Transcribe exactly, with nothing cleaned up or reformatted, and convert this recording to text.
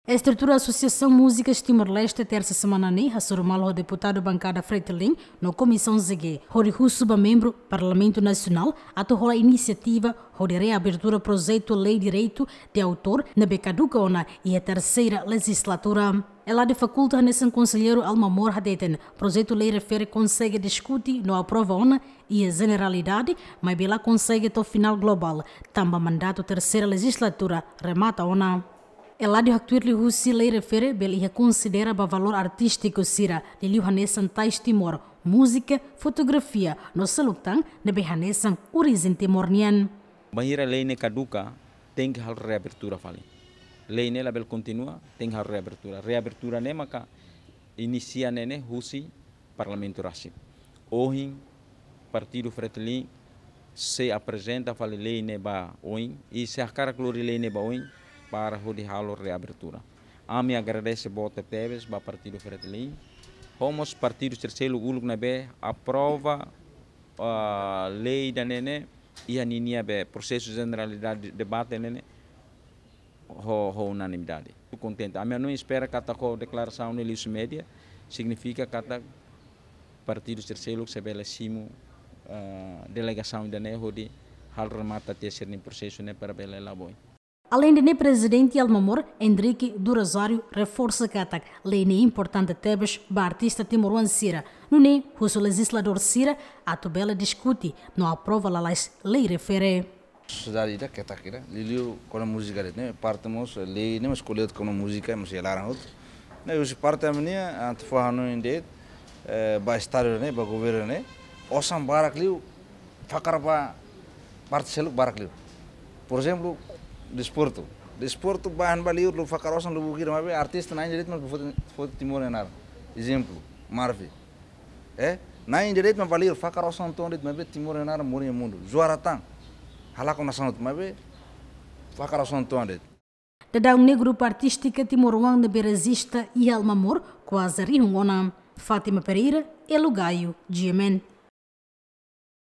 Estrutura Asosiasaun Múzikas Timor-Leste tersa semana ne'e hasoru malu ho deputadu bankada Fretilin no Komisaun Z G, hodi husu ba membru Parlamentu Nasionál atu hola inisiativa hodi reabertura projetu lei direitu de autór ne'ebé kaduka ona iha terseira lejizlatura. Eladi Faculta hanesan konselleiru Alma Mor hateten, projetu lei refere konsege diskute no aprova ona iha jeneralidade, maibé la konsege to'o finál globál, tanba mandatu terseira lejizlatura remata ona. Eladi haktuir liuhusi lei refere bele iha konsidera ba valór artístiku sira, liuliu hanesan tais Timor, múzika, fotografia, no seluk tan ne'ebé hanesan orijen Timor nian. Bainhira lei ne'e kaduka, tenke halo reabertura fali. Lei ne'e labele kontinua, tenke halo reabertura. Reabertura ne'e maka inisia ne'e ne'e husi Parlamentu rasik. Ohin, Partidu Fretilin sei aprezenta fali lei ne'e ba oin, i sei hakarak lori lei ne'e ba oin, para hodi halo reabertura. Ami agradese boot tebes ba Partidu Fretilin, ho mós partidu sira seluk uluk ne'ebé aprova, ah, lei ida-ne'e ne'e, iha ninia be prosesu jeneralidade debate ne'e ne'e, ho, ho unanimidade. Kontente. Ami hanoin, espera katak ho deklarasaun ne'e liuhusi média, signifika katak partidu sira seluk sei bele simu, ah, delegasaun ida-ne'e hodi halo remata tiha sira-nia prosesu ne'e para bele la'o ba oin. Aleinde ne'e, Prezidente Alma Mor, Henrique do Rosário, reforsa katak lei ne'e importante tebes ba artista timoroan sira, nune'e husu lejizladór sira atu bele diskute no aprova lalais lei refere. Sosiedade ida ketak ida, liuliu kona múzika de'it ne'e, parte mós lei ne'e mós ko'alia kona múzika, mós iha laran hotu. Ne'e husi parte ami-nia, atu fó hanoin de'it, eh, ba estadu ne'e, ba governu ne'e, osan barak liu, fakar ba parte seluk barak liu. Por ezemplu, desportu. Desportu ba han ba liur, lubuk fakar osan lubuk ida, maibé artista na'in de'it mak foti, foti Timor nia naran. Ezemplu, Marvi. Eh, na'in de'it mak ba liur, fakar osan uitoan de'it, maibé Timor nia naran morin iha mundu. Juara tan. Halakon nasaun hotu, maibé fakar osan uitoan de'it. Daudaun ne'e grupu artístika timoroan ne'ebé rejista iha Alma Mor kuaze rihun ona. Fátima Pereira, Elo Gaio, G M N.